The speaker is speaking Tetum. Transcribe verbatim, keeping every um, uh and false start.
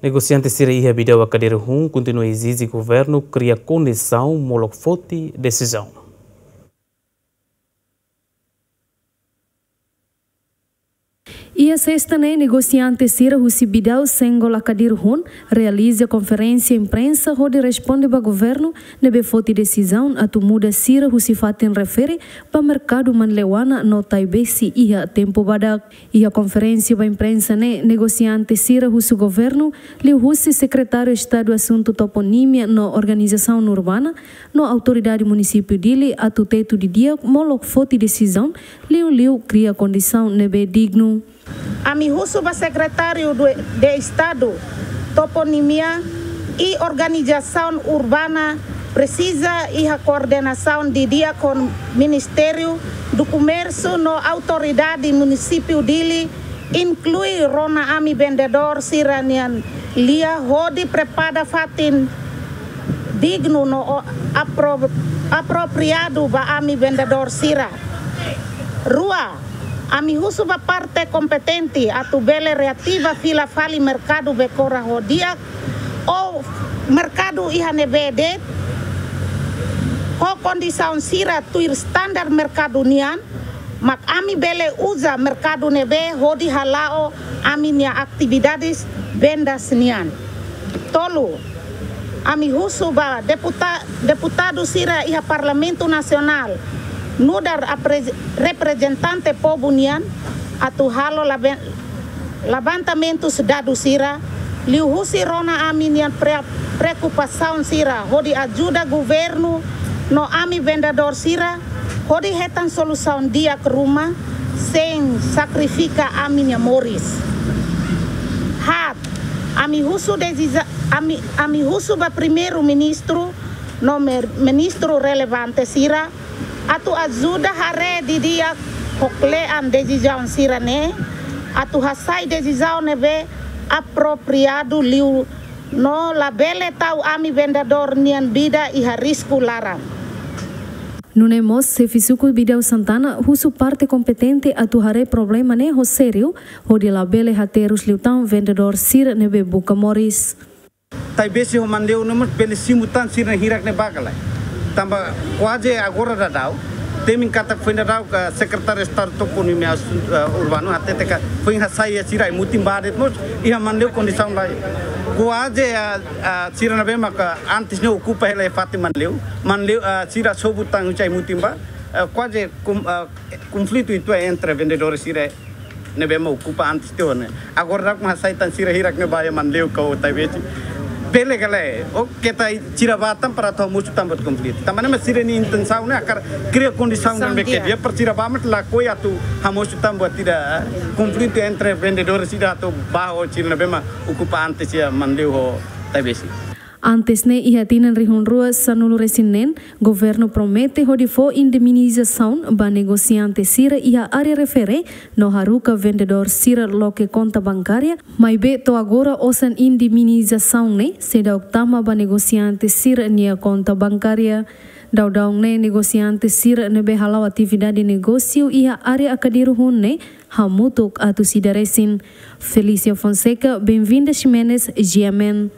Negosiante sira iha Bidau Akadiru Hun kontinua ezije governu kria kondisaun molok foti desizaun. Iha sesta ne'e, negosiante sira husi Bidau Senggol Akadiru Hun realiza konferénsia imprensa hodi responde ba governu ne'ebé foti desizaun atu muda sira husi fatin refere ba merkadu Manleuana no Taibesi iha tempu badak. Iha konferénsia ba imprensa ne'e, negosiante sira husu governu, liuhusi Sekretáriu Estadu Asuntu Toponímia no Organizasaun Urbana, no Autoridade Munisípiu Dili atu tetu didi'ak molok foti desizaun, liuliu kria kondisaun ne'ebé dignu. Ami husu ba Sekretáriu do, de Estadu Toponímia i Organizasaun Urbana presiza iha koordenasaun didi'ak ho Ministériu do Komérsiu no Autoridade Munisípiu Dili, inklui rona ami vendedór sira-nian lia hodi prepara fatin dignu no o-, apro-, apropriadu ba ami vendedór sira. Rua, ami husu ba parte kompetente atu bele reativa fila fali merkadu Bekora ho di'ak ou merkadu iha ne'ebé de'it ho kondisaun sira tuir standar merkadu nian, mak ami bele uza merkadu ne'ebé hodi hala'o ami-nia atividades vendas nian. Tolu, ami husu ba deputa-, deputadu sira iha Parlamentu Nasionál, nu'udar apre-, reprezentante povu nian, atu halo laben-, levantamentus dadus sira, liuhusi rona ami-nian pre-, preokupasaun sira, hodi ajuda governu no ami vendedór sira, hodi hetan solusaun di'ak ruma, sein sakrifika ami-nia moris. Haat, ami husu desiza-, ami, ami husu ba Primeiru-Ministru no mer-, ministru relevante sira, atu ajuda haree didi'ak ho kle'an desizaun sira-ne'e, atu hasai desizaun ne'ebé apropriadu liu no labele tau ami vendedór nian vida iha risku laran. Nune'e mós, xefe suku Bidau Santana husu parte kompetente atu haree problema ne'e ho sériu, hodi labele haterus liután vendedór sira ne'ebé buka moris. Taibesi ho Manleu ne'e mós bele simu tan sira hirak ne'e ba ka lae. Tanba kuaze agora daudaun, temi katak foin daudaun ka Sekretáriu Estadu Toponímia Asuntu, eh, Urbanu hatete katak foin hasai iha sira ai-mutin ba de'it mós iha Manleu kondisaun lae. Kuaze, eh, eh, sira ne'ebé maka antes ne'e okupa hela iha fatin Manleu, Manleu, eh, sira sobu tan husi ai-mutin ba, eh, kuaze kom-, eh, konflitu uitoan entre vendedór sira ne'ebé mak okupa antes tiha ona. Agora daudaun mak hasai tan sira hirak ne'e ba iha Manleu ka Taibesi. Bele ka lae, ou keta sira ba tan para atu hamosu tan buat konflitu. Tanba ne'e mak sira-nia intensaun ne'e hakarak kria kondisaun ne'ebé ke di'ak para sira ba mak lakohi atu hamosu tan buat ida, konflitu entre vendedór sira atu ba ho sira ne'ebé mak okupa antes iha Manleu ho Taibesi. Antes ne'e, iha tinan rihun rua sanulu resin neen, governu promete hodi fó indemnizasaun ba negosiante sira iha área refere no haruka vendedór sira loke konta bankária, maibé to'o agora osan indemnizasaun ne'e seidauk tama ba negosiante sira-nia konta bankária. Daudaun ne'e negosiante sira ne'ebé hala'o atividade negósiu iha área Akadiru Hun ne'e hamutuk atus ida resin. Felícia Fonseca, Benvinda Ximenes, G M N.